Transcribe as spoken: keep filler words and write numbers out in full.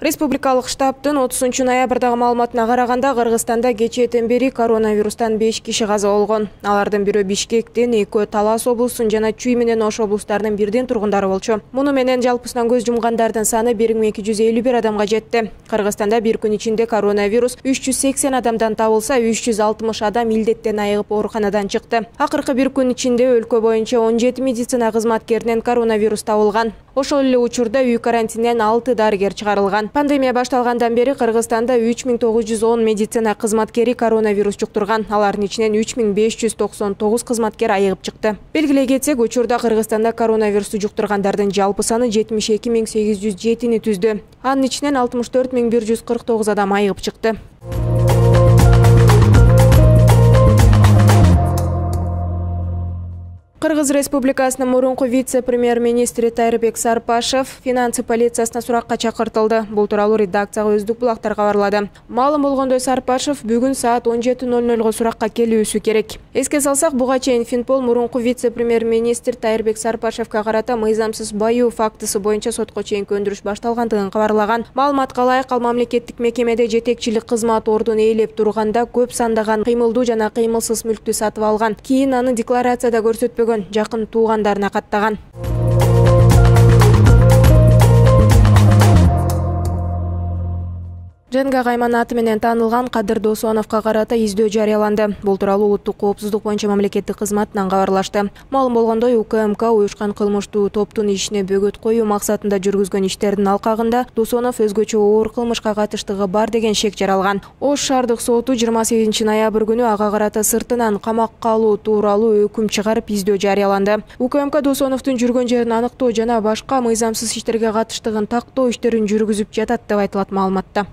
Республикалык штабтын отузунчу ноябрдагы маалыматына караганда Кыргызстанда кечээден бери коронавирустан беш киши каза болгон. Алардын бирөө Бишкектен, экөө Талас облусунун жана Чүй менен Ош облустарынын бирден тургундары болчу. Муну менен жалпысынан көз жумгандардын саны бир миң эки жүз элүү бир адамга жетти. Кыргызстанда бир күн ичинде коронавирус үч жүз сексен адамдан табылса, үч жүз алтымыш адам илдеттен айыгып ооруканадан чыкты. Акыркы бир күн ичинде өлкө боюнча он жети медицина кызматкеринен коронавирус табылган. Ошол эле учурда үй карантининен алты дарыгер чыгарылган. Пандемия башталгандан бери Кыргызстанда үч миң тогуз жүз он медицина кызматкери коронавирус жуктурган. Алардын ичинен үч миң беш жүз токсон тогуз кызматкер айыгып чыкты. Белгилей кетсек, учурда Кыргызстанда коронавирусту жуктургандардын жалпы саны жетимиш эки миң сегиз жүз жетини түздү. Анын ичинен алтымыш төрт миң бир жүз кырк тогуз адам айыгып чыкты. Кыргыз Республикасынын мурунку вице-премьер-министри Тайырбек Сарпашев финансы полициясына суракка чакыртылды. Бул тууралуу редакцияга Өздүк булактар кабарлады. Маалым болгондой, Сарпашев бүгүн саат он жети ноль нольго суракка келүүсү керек. Эске салсак, буга чейин Финпол мурунку вице-премьер-министр Тайырбек Сарпашевке карата мыйзамсыз баюу фактысы боюнча сотко чейинки өндүрүш башталгандыгын кабарлаган. Маалыматка ылайык, ал мамлекеттик мекемеде жетекчилик кызмат ордун ээлеп турганда көп сандаган кыймылдуу жана кыймылсыз мүлктү сатып алган. Кийин аны декларацияда көрсөтпөгөн, жакын туугандарына каттаган. Женга Гайман аты менен таанылган Кадыр Досоновго карата издөө жарыяланды. Бул тууралуу улуттук коопсуздук боюнча мамлекеттик кызматынан кабарлашты. Маалым болгондой, УКМК уюшкан кылмыштуу топтун ишине бөгөт коюу максатында жүргүзгөн иштердин алкагында Досонов өзгөчө оор кылмышка катыштыгы бар деген шек жаралган. Ош шаардык соту жыйырма сегизинчи ноябрь күнү ага карата сыртынан камакка алуу тууралуу өкүм чыгарып издөө жарыяланды. УКМК Досоновдун жүргөн жерин аныктоо жана башка мыйзамсыз иштерге катыштыгын тактоо иштерин жүргүзүп жатат деп айтылат маалыматта.